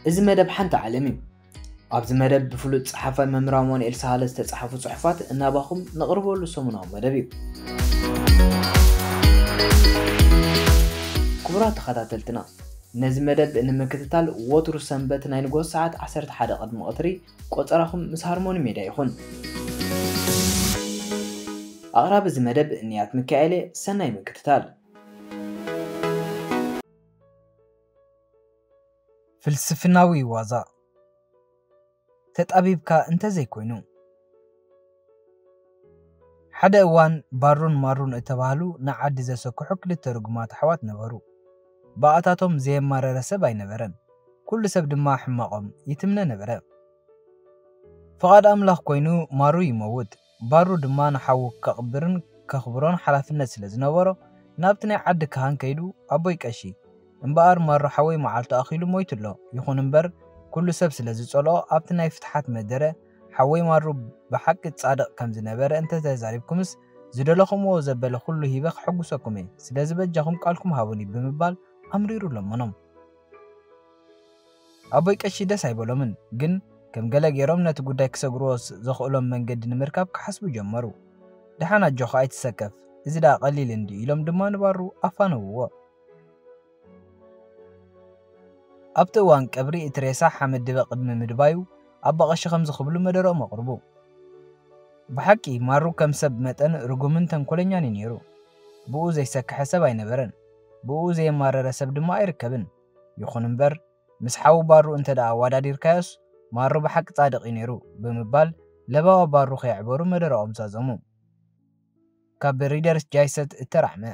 እዚ መደብ ሓንቲ ዓለም እዩ። ኣብዚ መደብ ብፍሉጥ ጸሓፋይ መምህር ኣማኑኤል ሳህለ ዝተጻሕፉ ጽሑፋት እናባኹም ነቕርበሉ ሰሙናዊ መደብ እዩ። ክቡራት ተኸታተልትና፣ ነዚ መደብ ንምክትታል ወትሩ ሰንበት ናይ ንግሆ ሰዓት ዓሰርተ ሓደ ቅድሚ ቀትሪ ቆጸራኹም ምስ ሃርሞኒ ሜድያ ይኹን። ኣቕራቢ እዚ መደብ እንያት ሚካኤል እየ። ሰናይ ምክትታል። ፍልስፍናዊ ዋዛ። ተጣቢብካ እንተዘይኮይኑ። ሓደ እዋን ባሩን ማሩን እተባህሉ ንዓዲ ዘሰክሑ ክልተ ርጉማት ኣሕዋት ነበሩ። ብኣታቶም ዘየማረረ ሰብ ኣይነበረን። ኩሉ ሰብ ድማ ሕማቖም ይትምነ ነበረ። ፍቓድ ኣምላኽ ኮይኑ ማሩ ይመውት። ባሩ ድማ ንሓዉ ከቕብርን ከኽብሮን ሓላፍነት ስለ ዝነበሮ፣ ናብቲ ናይ ዓዲ ካህን ከይዱ፣ "ኣቦይ ቀሺ፣ እምበኣር ማሩ ሓወይ መዓልቱ ኣኺሉ ሞይቱ ኣሎ። ይኹን እምበር፣ ኩሉ ሰብ ስለ ዝጸልኦ፣ ኣብቲ ናይ ፍትሓት መደረ፣ ሓወይ ማሩ ብሓቂ ጻድቕ ከም ዝነበረ እንተ ተዛሪብኩምስ፣ ዝደለኹምዎ ዘበለ ኩሉ ሂበ ከሐጉሰኩም እየ። ስለዚ በጃኹም ቃልኩም ሃቡኒ" ብምባል ኣምሪሩ ለመኖም። ኣቦይ ቀሺ ደስ ኣይበሎምን፣ ግን ከም ገለ ገይሮም ነቲ ጉዳይ ክሰግርዎ ስ-፣ ዘኽእሎም መንገዲ ንምርካብ ክሓስቡ ጀመሩ። "ደሓን ኣጆኻ ኣይትሰከፍ፣ እዚ ደኣ ቀሊል እንድዩ" ኢሎም ድማ ንባሩ ኣፋነውዎ። ኣብቲ እዋን ቀብሪ እቲ ሬሳ ሓመድ ድበ ቅድሚ ምድባዩ፣ ኣባ ቀሺ ከምዚ ክብሉ መደረኦም ኣቕርቡ። ብሓቂ ማሩ ከም ሰብ መጠን ርጉምን ተንኮለኛን እዩ ነይሩ። ብኡ ዘይሰከሐ ሰብ ኣይነበረን። ብኡ ዘየማረረ ሰብ ድማ ኣይርከብን። ይኹን እምበር፣ ምስ ሓዉ ባሩ እንተ ደኣ ኣወዳዲርካዮስ፣ ማሩ ብሓቂ ጻድቕ እዩ ነይሩ ብምባል ለባዋ ባሩ ከየዕበሩ መደረኦም ዛዘሙ። ካብ ሪደርስ ጃይሰት እተራዕመ።